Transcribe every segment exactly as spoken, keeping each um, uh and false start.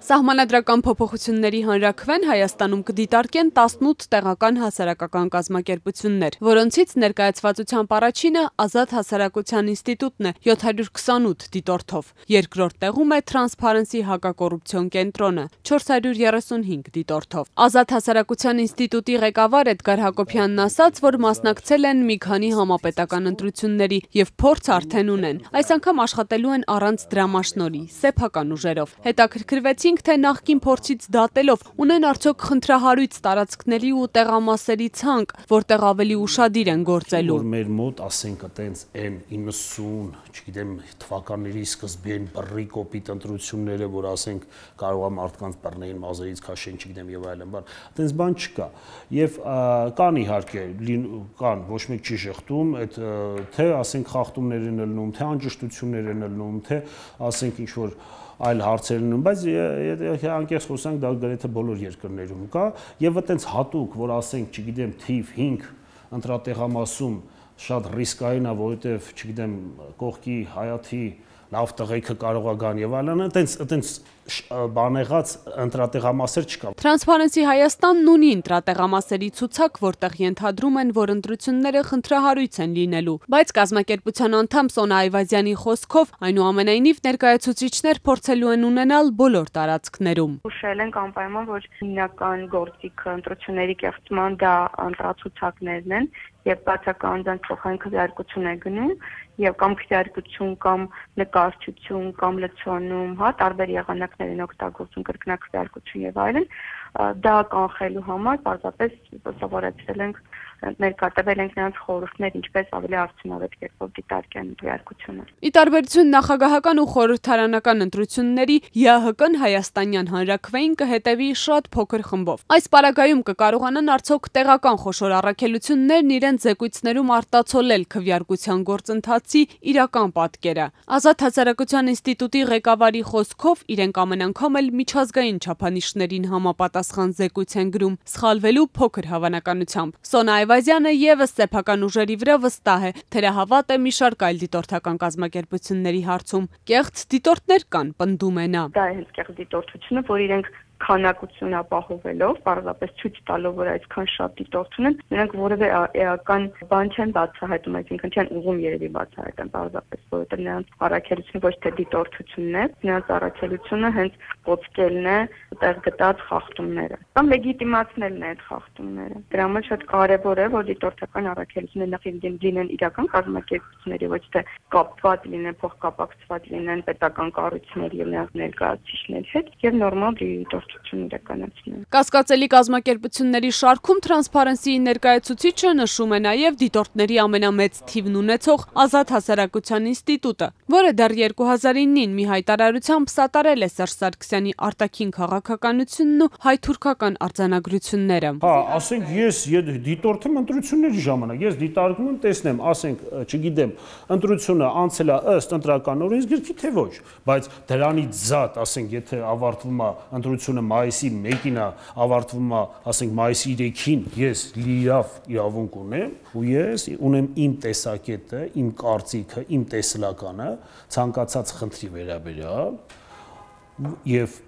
Սահմանադրական փոփոխությունների հանրաքվեն Հայաստանում կդիտարկեն տասնութ տեղական հասարակական կազմակերպություններ, որոնցից ներկայացվածությամբ առաջինը Ազատ հասարակության ինստիտուտն է յոթ հարյուր քսանութ դիտորդով, երկրորդ տեղում է Transparency հակակոռուպցիոն կենտրոնը չորս հարյուր երեսունհինգ դիտորդով։ Ազատ հասարակության ինստիտուտի ղեկավար Էդգար Հակոբյանն ասաց, որ մասնակցել են մի քանի համապետական ընտրությունների և փորձ արդեն ունեն, այս անգամ աշխատելու են առանց դրամաշնորհի, սեփական ուժերով։ Հետաքրքրվեցին թե նախկին փորձից դատելով ունեն արդյոք խնդրահարույց տարածքների ու տեղամասերի ցանկ, որտեղ ավելի ուշադիր են գործելու։ Որ մեր մոտ, ասենք, այտենց են իննսուն, չգիտեմ, թվականների սկզբին բռի կոպիտ ընտրությունները, որ ասենք կարող է մարդկանց բռնեին մազերից քաշեն, չգիտեմ եւ այլն, բան, այտենց բան չկա։ Եվ կան իհարկե, կան, ոչ մեկ չի շղթում, այդ թե ասենք խախտումներ են ելնում, թե անճշտություններ են ելնում, թե ասենք ինչ որ այլ հարցեր լինում, բայց անկեղծ խոսանք, դա գրեթե բոլոր երկրներում կա, եւ այտենց հատուկ, որ ասենք, չգիտեմ, թիվ հինգ ընտրատեղամասում շատ ռիսկային է, որովհետեւ, չգիտեմ, կողքի հայաթի լավ տղեկը կարող է գան եւ այլն, այտենց այտենց բանեղած ընտրատեղամասեր չկա։ Transparency Հայաստանն ունի ընտրատեղամասերի ցուցակ, որտեղ ենթադրում են, որ ընտրությունները խնդրահարույց են լինելու, բայց կազմակերպության անդամ Սոնա Այվազյանի խոսքով, այնուամենայնիվ ներկայացուցիչներ փորձելու են ունենալ բոլոր տարածքներում։ Ուշել ենք անպայման, որ հիմնական գործիքը ընտրությունների կեղծման դա ընտրացուցակներն են եւ բացական անձանց փոխանցի քվեարկություն է գնում եւ կամ քվեարկություն կամ նկարչություն կամ լցոնում, հա, տարբեր եղանակներ են օգտագործում կրկնակվեարկություն եւ այլն, դա կանխելու համար պարզապես սովորեցրել ենք ներկայացվել ենք նրանց խորհուրդներ, ինչպես ավելի արդյունավետ կերպով դիտարկեն քվեարկությունը։ Ի տարբերություն նախագահական ու խորհրդարանական ընտրությունների, ԵԱՀԿ-ն հայաստանյան հանրաքվեին կհետևի շատ փոքր խմբով։ Այս պարագայում կկարողանան արդյոք տեղական խոշոր առաքելություններն իրենց զեկույցներում արտացոլել քվեարկության գործընթացի իրական պատկերը։ Ազատ հասարակության ինստիտուտի ղեկավարի խոսքով իրենք ամեն անգամ էլ միջազգային չափանիշներին համապատասխան զեկույց են գրում, սխալվելու փոքր հավանականությամբ։ Սոնա Այվազյանը եւս սեփական ուժերի վրա վստահ է, թերահավատ է մի շարք այլ դիտորդական կազմակերպությունների հարցում։ Կեղծ դիտորդներ կան, պնդում է նա։ Դա է հենց կեղծ դիտորդությունը, որ իրենք քանակություն ապահովելով, պարզապես ցույց տալով, որ այսքան շատ դիտորդ ունեն, նրանք որևէ էական բան չեն բացահայտում, այսինքն չեն ուղում երևի բացահայտեն, պարզապես, որովհետև նրանց առաքելությունը ոչ թե դիտորդությունն է, նրանց առաքելությունը հենց ողջելն է տեղ գտած խախտումները, կամ լեգիտիմացնելն է այդ խախտումները։ Դրա համար շատ կարևոր է, որ դիտորդական առաքելությունը նախ լինեն իրական կազմակերպությունների, ոչ թե կապված լինեն, փոխկապակցված լինեն պետական կառույցների եւ նրանց ներկայացուցիչների հետ, եւ նորմալ դիտորդ Կասկածելի կազմակերպությունների շարքում Transparency-ի ներկայացուցիչը նշում է նաև դիտորդների ամենամեծ թիվն ունեցող Ազատ հասարակության ինստիտուտը, որը դեռ երկու հազար իննին մի հայտարարությամբ սատարել է Սերժ Սարգսյանի արտաքին քաղաքականությունն ու հայ-թուրքական արձանագրությունները։ Հա, ասենք ես դիտորդեմ ընտրությունների ժամանակ, ես դիտարկում եմ, տեսնեմ, ասենք, չգիտեմ, ընտրությունը անցել է ըստ ընտրական օրենսգրքի թե ոչ, բայց դրանից զատ, ասենք, եթե ավարտվում է ընտրությունը մայիսի մեկին է ավարտվում է, ասենք մայիսի երեքին ես լիավ իրավունք ունեմ ու ես ունեմ իմ տեսակետը, իմ կարծիքը, իմ տեսլականը ցանկացած խնդրի վերաբերյալ եւ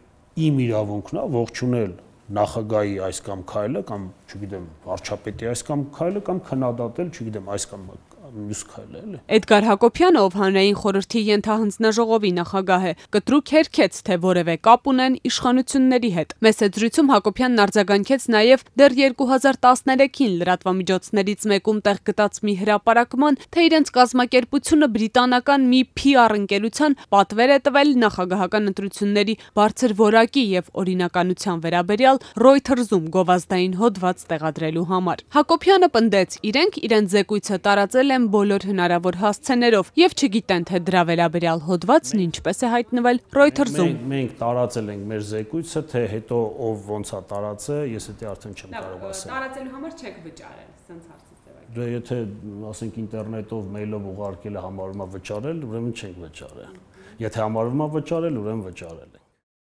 իմ իրավունքն է ողջունել նախագահի այս կամ քայլը կամ չգիտեմ վարչապետի այս կամ քայլը կամ քննադատել, չգիտեմ, այս կամ մյուս քայլը, էլի։ Էդգար Հակոբյանը, ով հանրային խորհրդի ենթահանձնաժողովի նախագահ է, կտրուկ հերքեց, թե որևէ կապ ունեն իշխանությունների հետ։ Մեծ զրույցում Հակոբյանն արձագանքեց նաև դեռ երկու հազար տասներեքին լրատվամիջոցներից մեկում տեղ գտած մի հրապարակման, թե իրենց կազմակերպությունը բրիտանական մի Փի Ար ընկերության պատվեր է տվել նախագահական ընտրությունների բարձր որակի եւ օրինականության վերաբերյալ Reuters-ում գովազդային հոդված տեղադրելու համար։ Հակոբյանը պնդեց, իրենք իրենց զեկույցը տարածել են բոլոր հնարավոր հասցեներով եւ չգիտեն, թե դրա վերաբերյալ հոդվածն ինչպես է հայտնվել Reuters-ում։ Մենք տարածել ենք մեր զեկույցը, թե հետո ով ոնց է տարածը, ես դա արդեն չեմ կարող ասել։ Տարածելու համար չեք վճարել, սենց հարցից է։ Դե եթե ասենք ինտերնետով, մեյլով ուղարկելը համարվում է վճարել, ուրեմն չենք վճարել։ Եթե համարվում է վճարել, ուրեմն վճարել է։